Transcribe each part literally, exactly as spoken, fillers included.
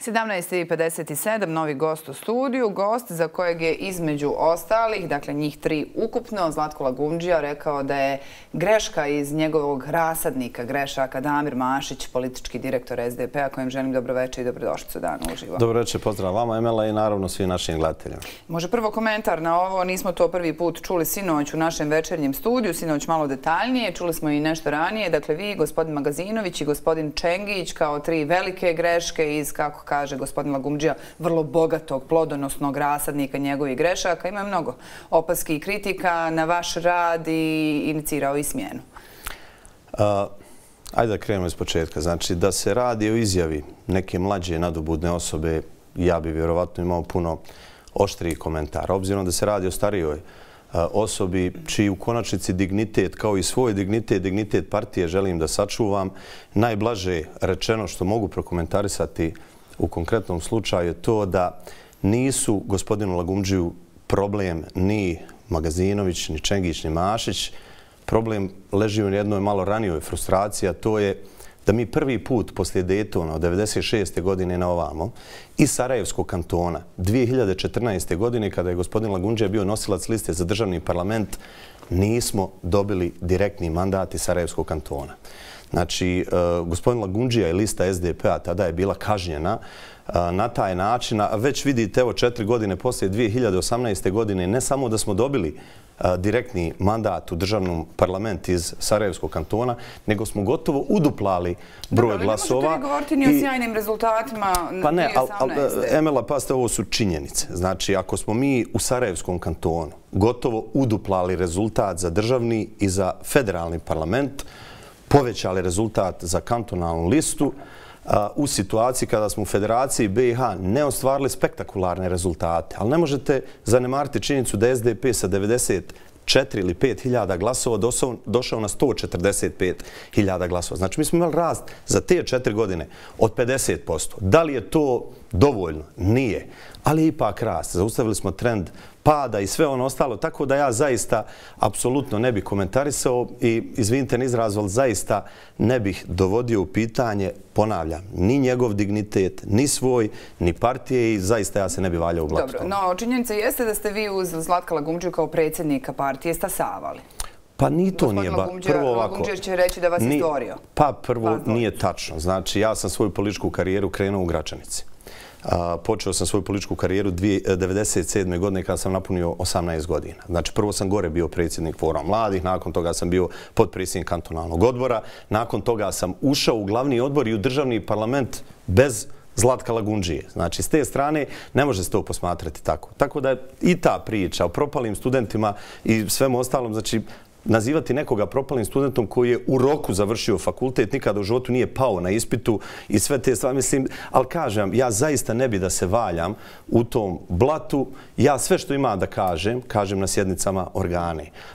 sedamnaest i pedeset sedam, novi gost u studiju. Gost za kojeg je između ostalih, dakle njih tri ukupno, Zlatko Lagundžija rekao da je greška iz njegovog rasadnika grešaka Damir Mašić, politički direktor S D P-a, kojem želim dobroveče i dobrodošlicu dana uživo. Dobroveče, pozdrav vama, Emela, i naravno svim našim gledateljima. Može prvo komentar na ovo, nismo to prvi put čuli sinoć u našem večernjem studiju, sinoć malo detaljnije, čuli smo i nešto ranije, dakle vi, gospodin Magazinović i gospodin Čengić kao tri velike greške iz, kako kaže gospodin Lagundžija, vrlo bogatog, plodonosnog rasadnika njegovih grešaka. Ima mnogo opaski i kritika na vaš rad i inicirao i smjenu. Ajde da krenemo iz početka. Znači, da se radi o izjavi neke mlađe nadobudne osobe, ja bi vjerovatno imao puno oštriji komentar. Obzirom da se radi o starijoj osobi čiji u konačnici dignitet, kao i svoj dignitet, dignitet partije želim da sačuvam, najblaže rečeno što mogu prokomentarisati u konkretnom slučaju je to da nisu gospodinu Lagundžiju problem ni Magazinović, ni Čengić, ni Mašić. Problem leži u jednoj malo ranijoj frustraciji, a to je da mi prvi put poslije Daytona od devedeset šeste godine na ovamo iz Sarajevskog kantona dvije hiljade četrnaeste. godine, kada je gospodin Lagundžija bio nosilac liste za državni parlament, nismo dobili direktni mandat iz Sarajevskog kantona. Znači, gospodin Lagundžija i lista S D P-a tada je bila kažnjena na taj način, a već vidite, evo četiri godine poslije dvije hiljade osamnaeste. godine, ne samo da smo dobili direktni mandat u državnom parlamentu iz Sarajevskog kantona, nego smo gotovo uduplali broj glasova. Ne možete vi govoriti ni o sjajnim rezultatima pa ne, ali Emela, pasite, ovo su činjenice. Znači, ako smo mi u Sarajevskom kantonu gotovo uduplali rezultat za državni i za federalni parlament, povećali rezultat za kantonalnu listu, u situaciji kada smo u Federaciji B i H ne ostvarili spektakularne rezultate. Ali ne možete zanemariti činjenicu da je S D P sa devedeset četiri ili pet hiljada glasova došao na sto četrdeset pet hiljada glasova. Znači, mi smo imali rast za te četiri godine od pedeset posto. Da li je to dovoljno? Nije. Ali je ipak rast. Zaustavili smo trend pada i sve ono ostalo, tako da ja zaista apsolutno ne bih komentarisao i, izvinite na izraz, ali zaista ne bih dovodio u pitanje, ponavljam, ni njegov dignitet, ni svoj, ni partije i zaista ja se ne bih valjao u blatu. Dobro, no činjenica jeste da ste vi uz Zlatka Lagundžiju kao predsjednika partije stasavali. Pa ni to nije ba... Prvo ovako... Lagundžija će reći da vas je stvorio. Pa prvo nije tačno. Znači, ja sam svoju političku karijeru krenuo u Gračanici. Počeo sam svoju političku karijeru devedeset sedme. godine kada sam napunio osamnaest godina. Znači, prvo sam gore bio predsjednik Foruma mladih, nakon toga sam bio potpredsjednik kantonalnog odbora, nakon toga sam ušao u glavni odbor i u državni parlament bez Zlatka Lagundžije. Znači, s te strane ne može se to posmatrati tako. Tako da i ta priča o propalim studentima i svemu ostalom, znači, nazivati nekoga propalim studentom koji je u roku završio fakultet, nikada u životu nije pao na ispitu i sve te stvari, mislim, ali kažem, ja zaista ne bi da se valjam u tom blatu. Ja sve što ima da kažem, kažem na sjednicama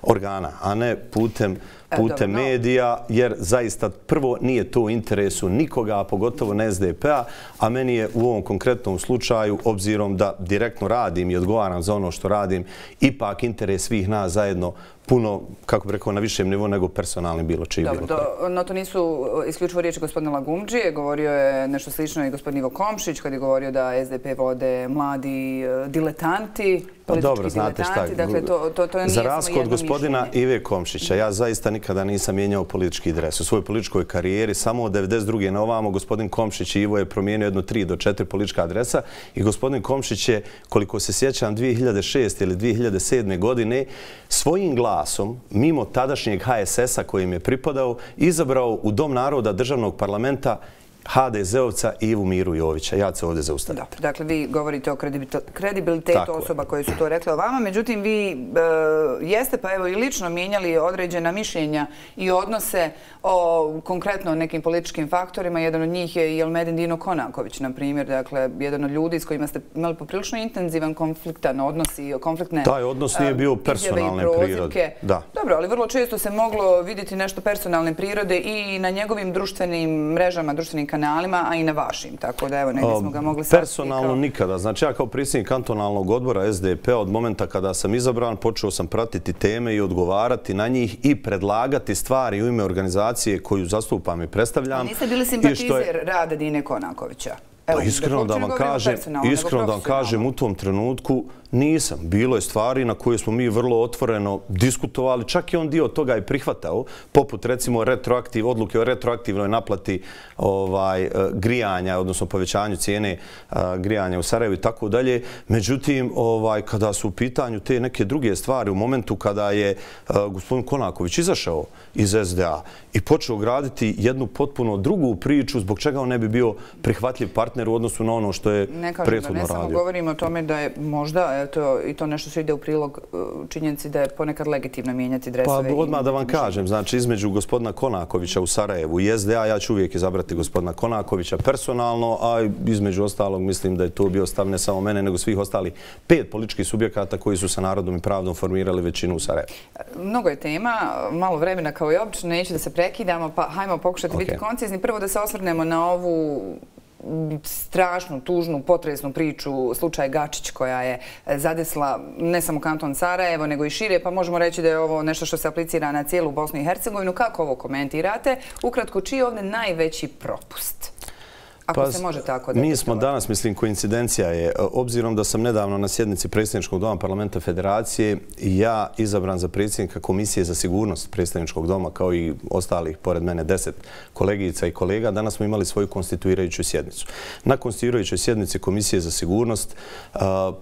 organa, a ne putem putem medija, jer zaista prvo nije to u interesu nikoga, a pogotovo ne S D P-a, a meni je u ovom konkretnom slučaju, obzirom da direktno radim i odgovaram za ono što radim, ipak interes svih nas zajedno puno, kako bih rekao, na višem nivou nego personalni bilo čiji bilo koji. No to nisu isključivo riječi gospodina Lagundžije, govorio je nešto slično i gospodin Ivo Komšić kad je govorio da S D P vode mladi diletanti, politički diletanti, dakle to nije samo jedno mišljenje. Za razliku od gospodina Ive Komšića, ja zaista nikada nisam mijenjao politički dres. U svojoj političkoj karijeri samo od devedeset druge na ovamo gospodin Komšić i Ivo je promijenio jedno tri do četiri politička adresa i gospodin Komšić je, koliko se sjećam, dvije hiljade šeste. ili dvije hiljade sedme. godine svojim glasom, mimo tadašnjeg H S S-a kojim je pripadao, izabrao u Dom naroda državnog parlamenta H D Z-ovca Ivu Miru Jovića. Ja se ovdje zaustavim. Dakle, vi govorite o kredibilitetu osoba koje su to rekle o vama. Međutim, vi jeste pa evo i lično mijenjali određena mišljenja i odnose o konkretno nekim političkim faktorima. Jedan od njih je i Elmedin Dino Konaković, na primjer. Dakle, jedan od ljudi s kojima ste imali poprilično intenzivan konfliktan odnos i konfliktne Taj odnos nije bio personalne prirode. Dobro, ali vrlo često se moglo vidjeti nešto personalne prirode i na njegovim društvenim mrežama, društvenim kanalima, a i na vašim. Tako da, evo, negdje smo ga mogli sati. Personalno nikada. Znači, ja kao predsjednik kantonalnog odbora S D P-a od momenta kada sam izabran, počeo sam pratiti teme i odgovarati na njih i predlagati stvari u ime organizacije koju zastupam i predstavljam. Niste bili simpatizer rada Dine Konakovića? Iskreno da vam kažem, iskreno da vam kažem, u tom trenutku nisam. Bilo je stvari na koje smo mi vrlo otvoreno diskutovali, čak i on dio toga i prihvatao, poput recimo retroaktiv, odluke o retroaktivnoj naplati grijanja, odnosno povećanju cijene grijanja u Sarajevu i tako dalje. Međutim, kada su u pitanju te neke druge stvari, u momentu kada je gospodin Konaković izašao iz S D A i počeo graditi jednu potpuno drugu priču, zbog čega on ne bi bio prihvatljiv partner u odnosu na ono što je prethodno radio. Ne samo govorimo o tome da je možda i to nešto što ide u prilog činjenici da je ponekad legitimno mijenjati dresove. Pa odmah da vam kažem, znači između gospodina Konakovića u Sarajevu i S D A ja ću uvijek izabrati gospodina Konakovića personalno, a između ostalog mislim da je to bio stav ne samo mene, nego svih ostalih pet političkih subjekata koji su sa Narodom i pravdom formirali većinu u Sarajevu. Mnogo je tema, malo vremena kao i obično, neću da se prekidamo, pa hajmo pokušati biti koncizni. Prvo da se osvrnemo na ovu strašnu, tužnu, potresnu priču, slučaj Gačić koja je zadesla ne samo kanton Sarajevo, nego i šire, pa možemo reći da je ovo nešto što se aplicira na cijelu Bosnu i Hercegovinu. Kako ovo komentirate? Ukratko, čiji je ovdje najveći propust? Ako se može tako da... Mi smo danas, mislim, koincidencija je, obzirom da sam nedavno na sjednici Predsjedničkog doma Parlamenta Federacije, ja izabran za predsjednika Komisije za sigurnost Predsjedničkog doma, kao i ostalih, pored mene, deset kolegica i kolega, danas smo imali svoju konstituirajuću sjednicu. Na konstituirajućoj sjednici Komisije za sigurnost,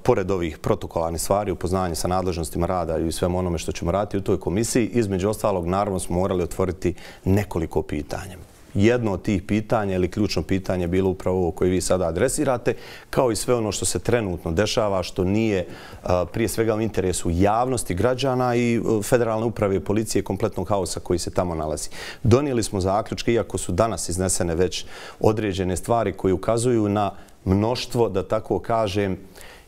pored ovih protokolarnih stvari, upoznanje sa nadležnostima rada i svemu onome što ćemo raditi u toj komisiji, između ostalog, naravno, smo morali otvoriti nekoliko pitanja. Jedno od tih pitanja ili ključno pitanje je bilo upravo ovo koje vi sada adresirate, kao i sve ono što se trenutno dešava, što nije prije svega u interesu javnosti, građana i federalne uprave i policije kompletnog haosa koji se tamo nalazi. Donijeli smo zaključke, iako su danas iznesene već određene stvari koje ukazuju na mnoštvo, da tako kažem,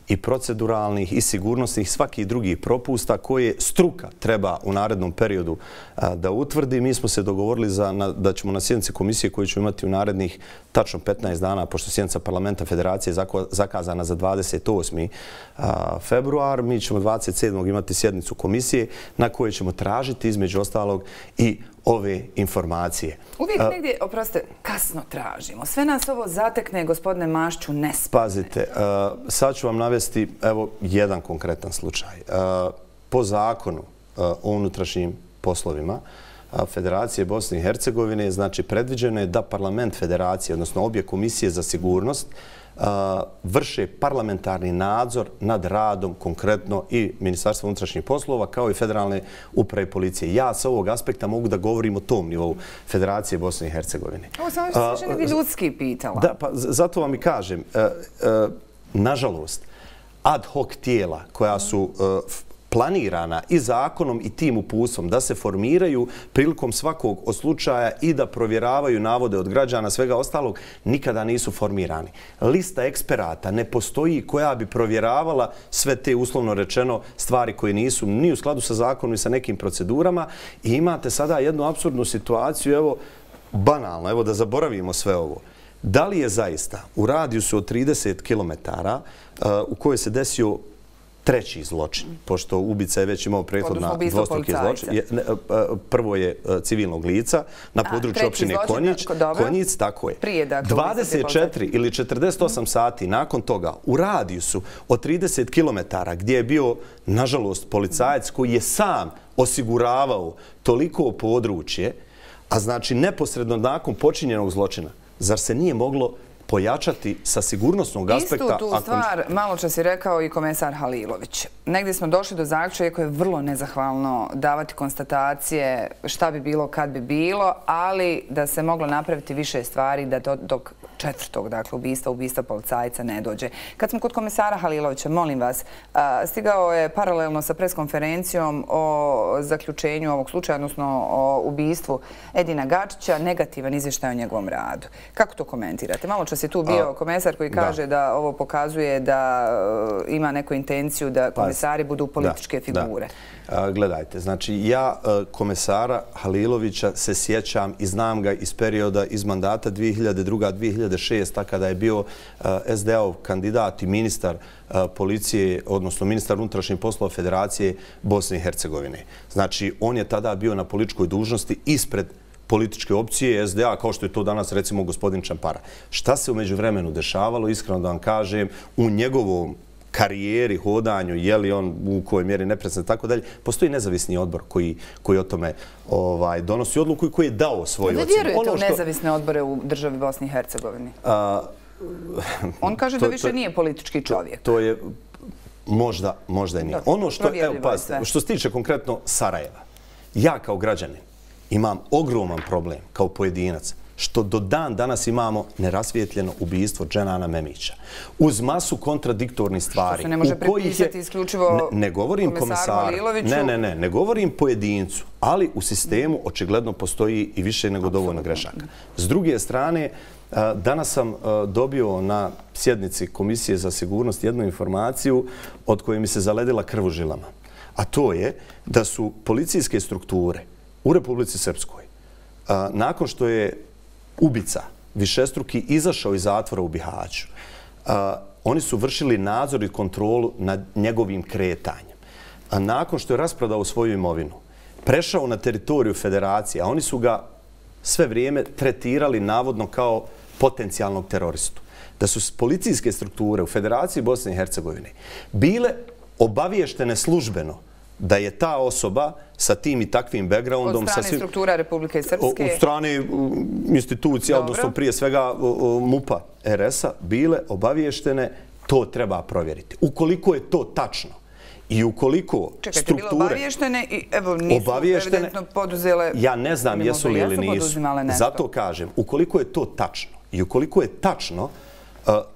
i proceduralnih i sigurnosnih svakih drugih propusta koje struka treba u narednom periodu da utvrdi. Mi smo se dogovorili da ćemo na sjednici komisije koju ćemo imati u narednih tačno petnaest dana, pošto sjednica Parlamenta Federacije je zakazana za dvadeset osmi februar, mi ćemo dvadeset sedmog imati sjednicu komisije na kojoj ćemo tražiti između ostalog i ove informacije. Uvijek negdje, oprostite, kasno tražimo. Sve nas ovo zatekne, gospodine Mašću, nespane. Pazite, sad ću vam navesti evo jedan konkretan slučaj. Po zakonu o unutrašnjim poslovima Federacije Bosne i Hercegovine, znači predviđeno je da Parlament Federacije, odnosno obje komisije za sigurnost, vrše parlamentarni nadzor nad radom konkretno i Ministarstva unutrašnjih poslova kao i Federalne uprave i policije. Ja sa ovog aspekta mogu da govorim o tom nivou Federacije Bosne i Hercegovine. Ovo samo što se ne bi ljudski pitala. Da, pa zato vam i kažem, nažalost, ad hoc tijela koja su planirana i zakonom i tim uputstvom da se formiraju prilikom svakog od slučaja i da provjeravaju navode od građana, svega ostalog, nikada nisu formirani. Lista eksperata ne postoji koja bi provjeravala sve te, uslovno rečeno, stvari koje nisu ni u skladu sa zakonom i sa nekim procedurama i imate sada jednu apsurdnu situaciju, evo, banalno, evo da zaboravimo sve ovo. Da li je zaista u radijusu od trideset kilometara u kojoj se desio treći zločin, pošto ubica je već imao prethodna dvostruki zločin. Prvo je civilnog lica na području općine Konjic, tako je. dvadeset četiri ili četrdeset osam sati nakon toga u radijusu od trideset kilometara gdje je bio, nažalost, policajac koji je sam osiguravao toliko područje, a znači neposredno nakon počinjenog zločina, zar se nije moglo pojačati sa sigurnosnog aspekta... Istu tu stvar malo čas je rekao i komesar Halilović. Negdje smo došli do zaključka, iako je vrlo nezahvalno davati konstatacije šta bi bilo kad bi bilo, ali da se moglo napraviti više stvari da dok četvrtog, dakle, ubistva, ubistva policajca ne dođe. Kad smo kod komesara Halilovića, molim vas, stigao je paralelno sa preskonferencijom o zaključenju ovog slučaja, odnosno o ubistvu Edina Gačića, negativan izvještaj o njegovom radu. Kako to komentirate? Malo čas je tu bio komesar koji kaže da ovo pokazuje da ima neku intenciju da komesari budu političke figure. Gledajte, znači ja komesara Halilovića se sjećam i znam ga iz perioda iz mandata dvije hiljade druge do dvije hiljade šeste. kada je bio S D A-ov kandidat i ministar policije, odnosno ministar unutrašnjih poslova Federacije Bosne i Hercegovine. Znači, on je tada bio na političkoj dužnosti ispred političke opcije S D A, kao što je to danas recimo gospodin Čampara. Šta se u međuvremenu dešavalo, iskreno da vam kažem, u njegovom karijeri, hodanju, je li on u kojoj mjeri nepredsjednik, tako dalje, postoji nezavisni odbor koji, koji o tome ovaj, donosi odluku i koji je dao svoju ocjenu. Vi vjerujete u nezavisne odbore u državi Bosni i Hercegovini? A, on kaže to, da više to, nije politički čovjek. To, to je možda, možda i nije. Dobro, ono što, evo, pazite, što se tiče konkretno Sarajeva, ja kao građanin imam ogroman problem kao pojedinac što do dan danas imamo nerasvijetljeno ubistvo Dženana Memića. Uz masu kontradiktornih stvari. Što se ne može pripisati isključivo ne, ne govorim komisaru Haliloviću. Ne, ne, ne. Ne govorim pojedincu, ali u sistemu očigledno postoji i više nego dovoljno grešaka. S druge strane, danas sam dobio na sjednici Komisije za sigurnost jednu informaciju od koje mi se zaledila krv u žilama. A to je da su policijske strukture u Republici Srpskoj, nakon što je ubica višestruki izašao iz zatvora u Bihaću, oni su vršili nadzor i kontrolu nad njegovim kretanjem. A nakon što je rasprodao svoju imovinu, prešao na teritoriju federacije, a oni su ga sve vrijeme tretirali navodno kao potencijalnog teroristu. Da su policijske strukture u Federaciji Bosne i Hercegovine bile obaviještene službeno da je ta osoba sa tim i takvim backgroundom... Od strane struktura Republike Srpske? Od strane institucija, odnosno prije svega MUP-a R S-a, bile obaviještene, to treba provjeriti. Ukoliko je to tačno i ukoliko Čekajte, strukture... Čekajte, bile obaviještene i evo nisu evidentno poduzele... Ja ne znam jesu li ili nisu. Zato kažem, ukoliko je to tačno i ukoliko je tačno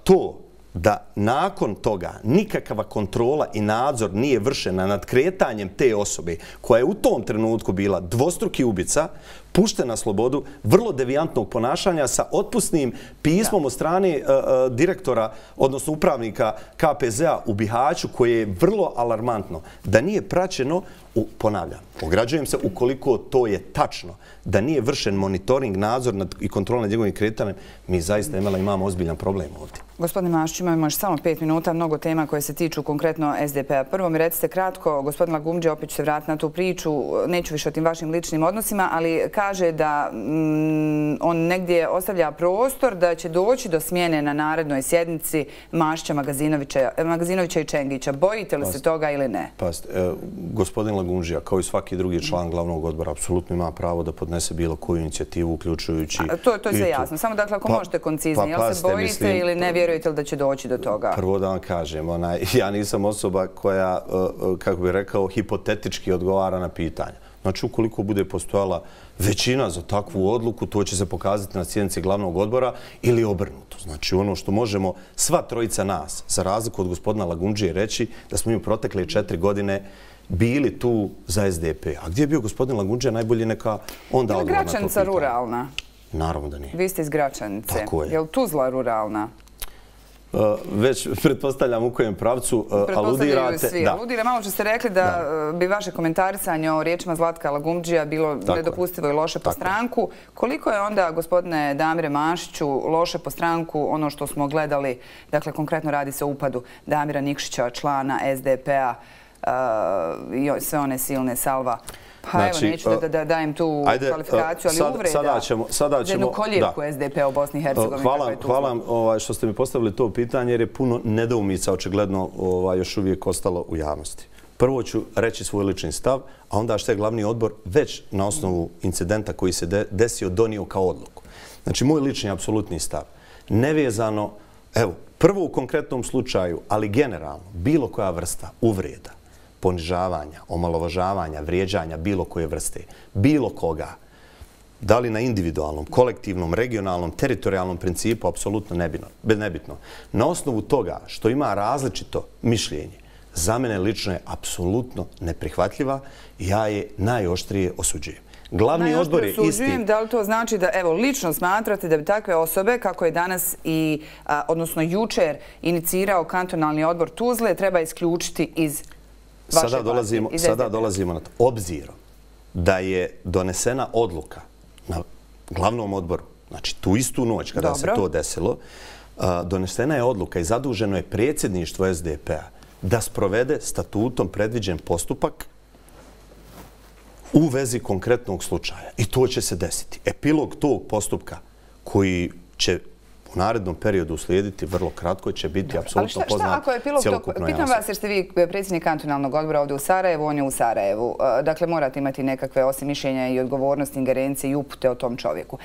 to da nakon toga nikakva kontrola i nadzor nije vršena nad kretanjem te osobe koja je u tom trenutku bila dvostruki ubica, puštena na slobodu, vrlo devijantnog ponašanja sa otpusnim pismom od strane uh, direktora, odnosno upravnika K P Z-a u Bihaću, koje je vrlo alarmantno. Da nije praćeno, u, ponavljam, ograđujem se, ukoliko to je tačno, da nije vršen monitoring, nadzor nad, i kontrola nad njegovim kretanjem, mi zaista imala, imamo ozbiljan problem ovdje. Gospodine Mašić, imamo još samo pet minuta, mnogo tema koje se tiču konkretno S D P-a. Prvo mi recite kratko, gospodin Lagumdžija, opet ću se vratiti na tu priču, neću više o tim vašim ličnim odnosima, ali kaže da mm, on negdje ostavlja prostor da će doći do smjene na narednoj sjednici Mašića, Magazinovića, Magazinovića i Čengića. Bojite li Past, se toga ili ne? Past, e, gospodin Lagumdžija, kao i svaki drugi član glavnog odbora, apsolutno ima pravo da podnese bilo koju inicijativu, uključujući... A, to, to je sve jasno. Samo dakle, ako pa, možete koncizni, pa, jel se bojite mislim, ili ne vjerujete li da će doći do toga? Prvo da vam kažem, onaj, ja nisam osoba koja, kako bih rekao, hipotetički odgovara na pitanja. Znači, ukoliko bude postojala većina za takvu odluku, to će se pokazati na sjednici glavnog odbora ili obrnuto. Znači, ono što možemo sva trojica nas, za razliku od gospodina Lagumdžije, reći da smo mi u protekle četiri godine bili tu za S D P. A gdje je bio gospodin Lagumdžija, najbolje neka onda odgovor na to pitanje. Je li Gračanica ruralna? Naravno da nije. Vi ste iz Gračanice. Tako je. Je li Tuzla ruralna? Uh, već pretpostavljam u kojem pravcu uh, aludirate. Svi. Aludira. Malo što ste rekli da, da bi vaše komentarisanje o riječima Zlatka Lagumdžija bilo tako nedopustivo je. I loše tako po stranku. Koliko je onda, gospodine Damire Mašiću, loše po stranku ono što smo gledali, dakle konkretno radi se o upadu Damira Nikšića, člana S D P-a uh, i sve one silne salva? Pa znači, evo, neću da, da dajem tu ajde, kvalifikaciju, ali sad, uvreda sada ćemo, sada ćemo, za jednu koljevku S D P-a u Bosni i Hercegovini. Hvala, hvala ovaj, što ste mi postavili to pitanje, jer je puno nedoumica očigledno ovaj, još uvijek ostalo u javnosti. Prvo ću reći svoj lični stav, a onda što je glavni odbor već na osnovu incidenta koji se de, desio donio kao odluku. Znači, moj lični apsolutni stav, nevezano, evo, prvo u konkretnom slučaju, ali generalno, bilo koja vrsta uvreda, ponižavanja, omalovažavanja, vrijeđanja bilo koje vrste, bilo koga, da li na individualnom, kolektivnom, regionalnom, teritorijalnom principu, apsolutno nebitno. Na osnovu toga što ima različito mišljenje, za mene lično je apsolutno neprihvatljiva i ja je najoštrije osuđujem. Glavni odbor je isti. Da li to znači da, evo, lično smatrate da bi takve osobe, kako je danas i, a, odnosno jučer, inicirao kantonalni odbor Tuzle, treba isključiti iz Sada dolazimo, sada dolazimo na to. Obzirom da je donesena odluka na glavnom odboru, znači tu istu noć kada Dobro. se to desilo, donesena je odluka i zaduženo je predsjedništvo S D P-a da sprovede statutom predviđen postupak u vezi konkretnog slučaja. I to će se desiti. Epilog tog postupka koji će u narednom periodu uslijediti vrlo kratko će biti apsolutno poznat cjelokupnoj javnosti. Pitam vas jer ste vi predsjednik kantonalnog odbora ovdje u Sarajevu, on je u Sarajevu. Dakle, morate imati nekakve osim mišljenja i odgovornosti, ingerencije i upute o tom čovjeku.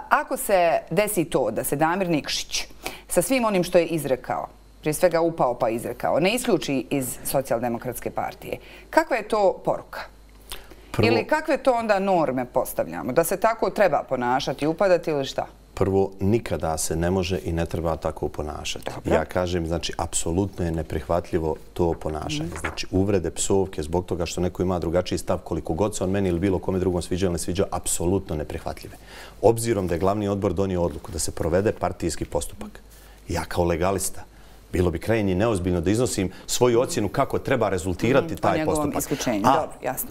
Ako se desi to da se Damir Nikšić sa svim onim što je izrekao, prije svega upao pa izrekao, ne isključi iz Socijaldemokratske partije, kakva je to poruka? Ili kakve to onda norme postavljamo? Da se tako treba ponašati, upadati ili šta? Prvo, nikada se ne može i ne treba tako ponašati. Ja kažem, znači, apsolutno je neprihvatljivo to ponašanje. Znači, uvrede, psovke, zbog toga što neko ima drugačiji stav, koliko god se on meni ili bilo kome drugom sviđa ili ne sviđa, apsolutno neprihvatljive. Obzirom da je glavni odbor donio odluku da se provede partijski postupak, ja kao legalista, bilo bi krajnje neozbiljno da iznosim svoju ocjenu kako treba rezultirati taj postupak. A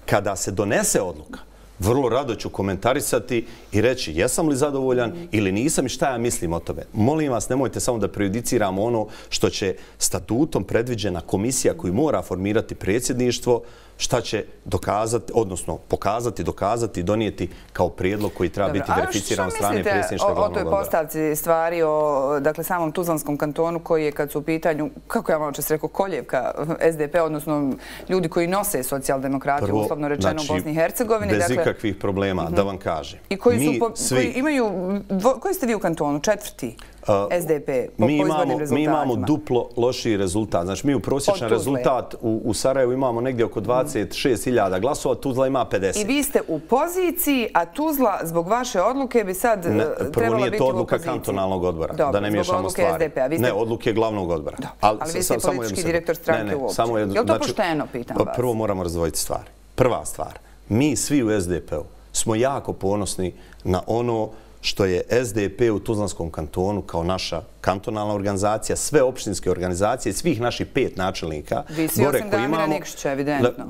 kada se donese odluka, vrlo rado ću komentarisati i reći jesam li zadovoljan ili nisam i šta ja mislim o tome. Molim vas, nemojte samo da prejudiciramo ono što će statutom predviđena komisija koju mora formirati predsjedništvo, šta će dokazati, odnosno pokazati, dokazati i donijeti kao prijedlog koji treba biti verificiran od strane predsjedništva glavnog odbora. O toj postavci stvari o dakle, samom Tuzlanskom kantonu koji je kad su u pitanju, kako ja malo čas rekao, koljevka S D P, odnosno ljudi koji nose socijaldemokratiju, uslovno rečeno u Bosni i Hercegovini. Bez ikakvih problema, da vam kažem. I koji imaju, koji ste vi u kantonu? Četvrti? S D P po izbornim rezultatima. Mi imamo duplo lošiji rezultat. Znači, mi u prosječan rezultat u Sarajevu imamo negdje oko dvadeset šest hiljada glasova, Tuzla ima pedeset. I vi ste u poziciji, a Tuzla zbog vaše odluke bi sad trebala biti u opoziciji. Prvo nije to odluka kantonalnog odbora, da ne miješamo stvari. Ne, odluke glavnog odbora. Ali vi ste politički direktor stranke uopće. Je li to pošteno, pitam vas? Prvo moramo razdvojiti stvari. Prva stvar, mi svi u S D P-u smo jako ponosni na ono što je S D P u Tuzlanskom kantonu kao naša kantonalna organizacija, sve opštinske organizacije, svih naših pet načelnika. Vi svi osim Damira Nikšića, evidentno.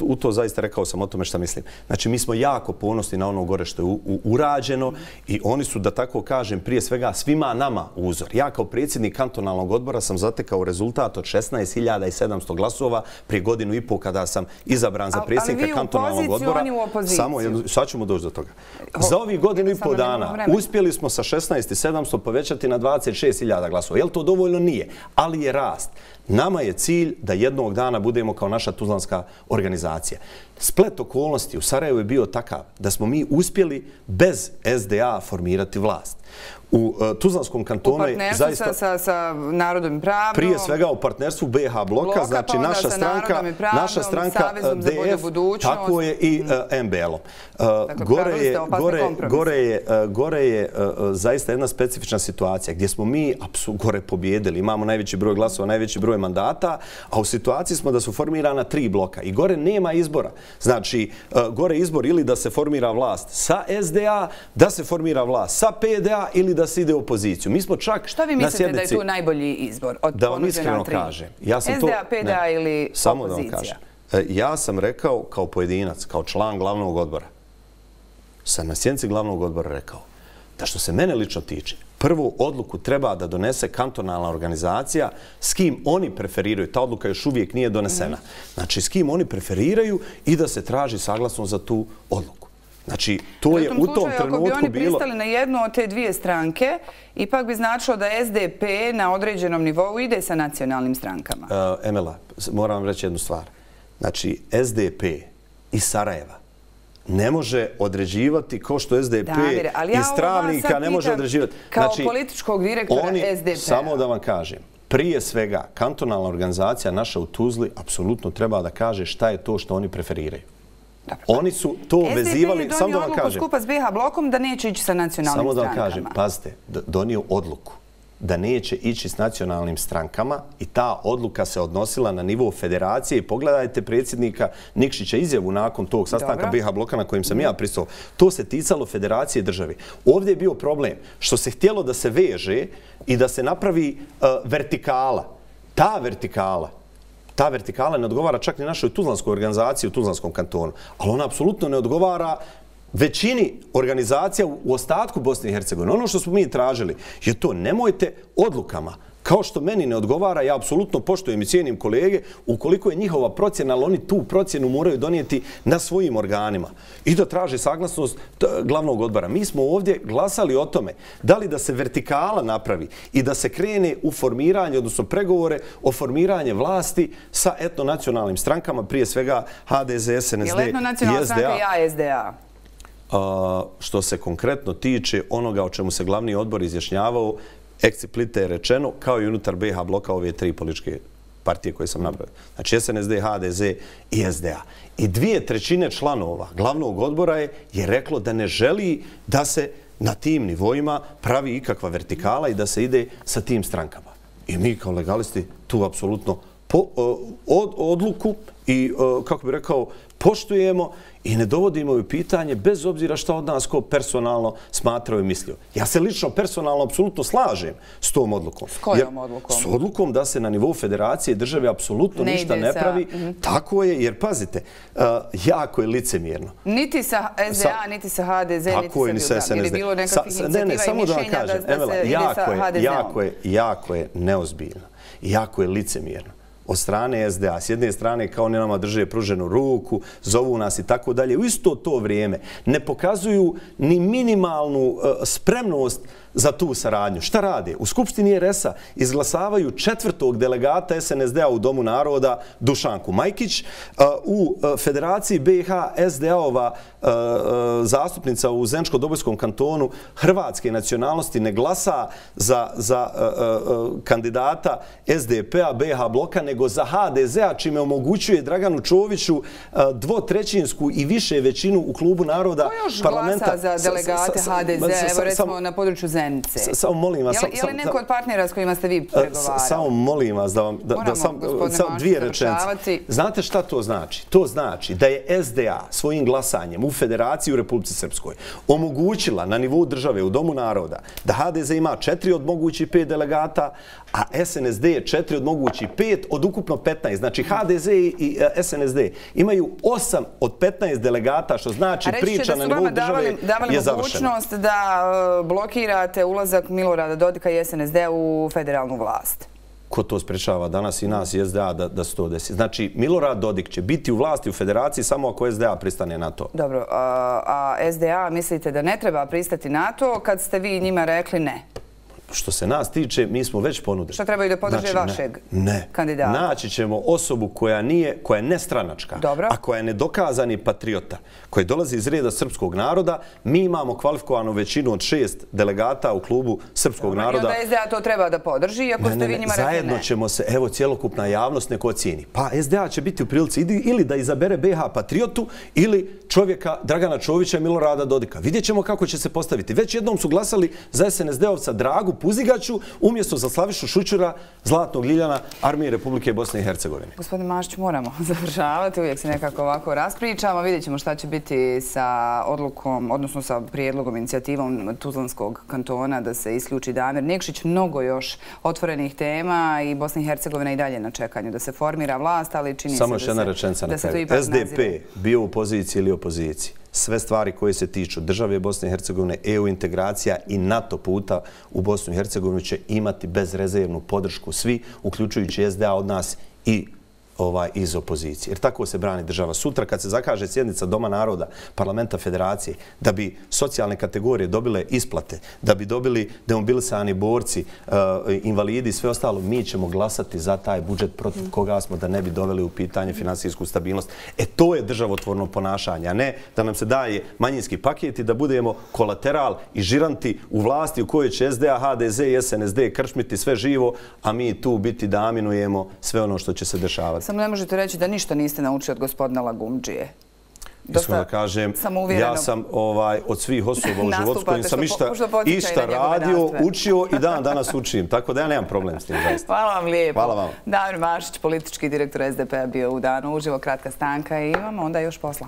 U to zaista rekao sam o tome šta mislim. Znači, mi smo jako ponosni na ono gore što je urađeno i oni su, da tako kažem, prije svega svima nama uzor. Ja kao predsjednik kantonalnog odbora sam zatekao rezultat od šesnaest hiljada sedamsto glasova prije godinu i pol kada sam izabran za predsjednika kantonalnog odbora. Ali vi u poziciju, oni u opoziciju. Samo, sad ćemo doći do toga. Za ovih godinu i pol dana uspjeli smo sa šesnaest hiljada sedamsto povećati na dvadeset šest hiljada glasova. Je li to dovoljno? Nije. Ali je rast. Nama je cilj da jednog dana budemo kao naša tuzlanska organizacija. Splet okolnosti u Sarajevu je bio takav da smo mi uspjeli bez S D A formirati vlast. U Tuzlanskom kantonu je zaista... U partnerstvu sa Narodom i pravdom. Prije svega u partnerstvu B iH bloka, znači naša stranka, naša stranka D F, tako je i M B L-om. Gore je zaista jedna specifična situacija gdje smo mi gore pobjedili. Imamo najveći broj glasova, najveći broj mandata, a u situaciji smo da su formirana tri bloka i gore nema izbora. Znači, gore izbor ili da se formira vlast sa S D A, da se formira vlast sa P D A ili da se ide u opoziciju. Mi smo čak na sjednici... Što vi mislite da je tu najbolji izbor od da vam iskreno kažem. S D A, P D A ili opozicija? Samo da vam kažem. Ja sam rekao kao pojedinac, kao član glavnog odbora, sam na sjednici glavnog odbora rekao da što se mene lično tiče, prvu odluku treba da donese kantonalna organizacija s kim oni preferiraju. Ta odluka još uvijek nije donesena. Znači, s kim oni preferiraju i da se traži saglasnost za tu odluku. Znači, to je u tom trenutku bilo... Ako bi oni pristali na jednu od te dvije stranke, ipak bi značilo da S D P na određenom nivou ide sa nacionalnim strankama. Emela, moram vam reći jednu stvar. Znači, S D P iz Sarajeva ne može određivati ko što S D P iz Travnika ne može određivati. Kao političkog direktora S D P-a. Samo da vam kažem, prije svega, kantonalna organizacija naša u Tuzli apsolutno treba da kaže šta je to što oni preferiraju. Oni su to vezivali... S D P je donio odluku skupa s B iH blokom da neće ići sa nacionalnim strankama. Samo da vam kažem, pazite, donio odluku da neće ići s nacionalnim strankama i ta odluka se odnosila na nivou federacije i pogledajte predsjednika Nikšića izjavu nakon tog sastanka B iH bloka na kojim sam ja pristao. To se ticalo federacije države. Ovdje je bio problem što se htjelo da se veže i da se napravi vertikala. Ta vertikala Ta vertikala ne odgovara čak ni našoj tuzlanskoj organizaciji u Tuzlanskom kantonu, ali ona apsolutno ne odgovara većini organizacija u ostatku Bosne i Hercegovine. Ono što smo mi tražili je to, nemojte odlukama Kao što meni ne odgovara, ja apsolutno poštujem i cijenim kolege, ukoliko je njihova procjena, ali oni tu procjenu moraju donijeti na svojim organima i da traže saglasnost glavnog odbora. Mi smo ovdje glasali o tome da li da se vertikala napravi i da se krene u formiranje, odnosno pregovore o formiranje vlasti sa etnonacionalnim strankama, prije svega H D S, S N S D i S D A. Je li etnonacionalna stranka i A S D A? Što se konkretno tiče onoga o čemu se glavni odbor izjašnjavao, eksplicite je rečeno, kao i unutar B i H bloka ove tri političke partije koje sam napravio. Znači S N S D, H D S i S D A. I dvije trećine članova glavnog odbora je, je reklo da ne želi da se na tim nivoima pravi ikakva vertikala i da se ide sa tim strankama. I mi kao legalisti tu apsolutno po, od, odluku i, kako bih rekao, poštujemo i ne dovodimo u pitanje bez obzira šta od nas ko personalno smatrao i mislio. Ja se lično personalno apsolutno slažem s tom odlukom. S kojom odlukom? S odlukom da se na nivou federacije države apsolutno ništa ne pravi. Tako je, jer pazite, jako je licemjerno. Niti sa S D A, niti sa H D S, niti sa S N S D. Jer je bilo nekakvih inicijativa i mišljenja da se ide sa H D S-om. Jako je neozbiljno. Jako je licemjerno od strane S D A. S jedne strane kao ne nama drže pruženu ruku, zovu nas i tako dalje. U isto to vrijeme ne pokazuju ni minimalnu spremnost za tu saradnju. Šta rade? U Skupštini R S A izglasavaju četvrtog delegata S N S D A u Domu naroda Dušanku Majkić. U Federaciji B i H S D A-ova zastupnica u Zeničko-Dobojskom kantonu hrvatske nacionalnosti ne glasa za, za kandidata S D P-a B i H bloka, nego za H D S A, čime omogućuje Draganu Čoviću dvotrećinsku i više većinu u klubu naroda parlamenta. Ko još glasa za delegate H D S A, evo recimo na području Zenice? Samo molim vas... Je li neko od partnera s kojima ste vi pregovarali? Samo molim vas da vam... Moramo, gospodine dvije rečenice. Znate šta to znači? To znači da je S D A svojim glasanjem u Federaciji u Republici Srpskoj omogućila na nivou države u Domu naroda da H D S ima četiri od mogućih pet delegata, a S N S D je četiri od mogućih pet od ukupno petnaest. Znači H D S i S N S D imaju osam od petnaest delegata, što znači priča na nivou države je završena. A reći će da su vama davali mogućnost da blokirate ulazak Milorada Dodika i S N S D u federalnu vlast? Ko to sprečava danas i nas i S D A da, da se to desi? Znači, Milorad Dodik će biti u vlasti u federaciji samo ako S D A pristane na to. Dobro, a, a S D A mislite da ne treba pristati na to kad ste vi njima rekli ne? Što se nas tiče, mi smo već ponudili. Što trebaju da podrže znači, vašeg ne, kandidata? Naći ćemo osobu koja nije, koja je nestranačka, Dobro. a koja je nedokazani patriota, koji dolazi iz reda srpskog naroda. Mi imamo kvalifikovanu većinu od šest delegata u klubu srpskog Dobro. naroda. I onda S D A to treba da podrži, iako ne, ste vi ne, njima rekli ne. Zajedno ćemo se, evo, cjelokupna javnost neko ocijeni. Pa S D A će biti u prilici ili da izabere B i H patriotu ili čovjeka Dragana Čovića i Milorada Dodika. Vidjet ćemo kako će se postaviti. Već jednom su glasali za S N S D-ovca Dragu Puzigaću umjesto za Slavišu Šućura, Zlatnog Ljiljana, Armije Republike Bosne i Hercegovine. Gospodin Mašić, moramo završavati. Uvijek se nekako ovako raspričamo. Vidjet ćemo šta će biti sa odlukom, odnosno sa prijedlogom, inicijativom Tuzlanskog kantona da se isključi Damir Nikšić. Mnogo još otvorenih tema i Bosna i Hercegovina i dalje na čekanju da se formira vlast, ali čini Samo se da se, da se to ipak S D P bio u poziciji ili opoziciji. Sve stvari koje se tiču države Bosne i Hercegovine, E U integracija i NATO puta u Bosnu i Hercegovinu će imati bezrezervnu podršku svi, uključujući S D A od nas i ovaj, iz opozicije. Jer tako se brani država. Sutra kad se zakaže sjednica Doma naroda, parlamenta federacije, da bi socijalne kategorije dobile isplate, da bi dobili demobilisani borci, uh, invalidi i sve ostalo, mi ćemo glasati za taj budžet protiv koga smo da ne bi doveli u pitanje finansijsku stabilnost. E to je državotvorno ponašanje, a ne da nam se daje manjinski paket i da budemo kolateral i žiranti u vlasti u kojoj će S D A, H D S i S N S D krčmiti sve živo, a mi tu biti da aminujemo sve ono što će se dešavati. Samo ne možete reći da ništa niste naučili od gospodina Lagumdžije. Iskreno da kažem, ja sam ovaj, od svih osoba u životu s kojim sam išta, išta radio, učio i dan danas učim. Tako da ja nemam problem s tim. Zaista. Hvala vam lijepo. Hvala vam. Damir Mašić, politički direktor S D P-a bio u danu uživo, kratka stanka i imamo onda još posla.